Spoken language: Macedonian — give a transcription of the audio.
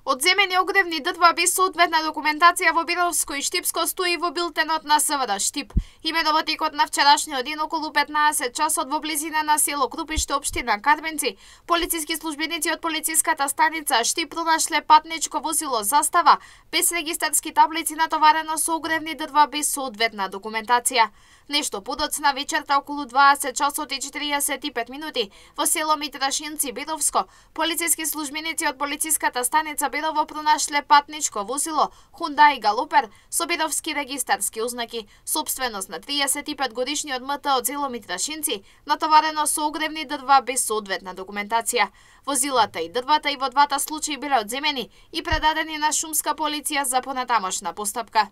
Одземени огревни дрва без соодветна документација во Бировско и Штипско стои во билтенот на СВД Штип. Имено во текот на вчерашниот ден околу 15 часот во близина на село Крупиште, општина Кадвенци, полициски службеници од полициската станица Штип пронашле патничко возило Застава без регистарски таблици натоварено со огревни дрва без соодветна документација. Нешто подоцна вечерта околу 20 часот и 45 минути во село Митрашинци, Бировско, полициски службеници од полициската станица Бирово пронашле патничко возило Hyundai Галопер со бировски регистарски ознаки, собственост на 35 годишниот МТ од село Митрашинци, натоварено со огревни дрва без соодветна документација. Возилата и дрвата и во двата случаи биле одземени и предадени на шумска полиција за понатамошна постапка.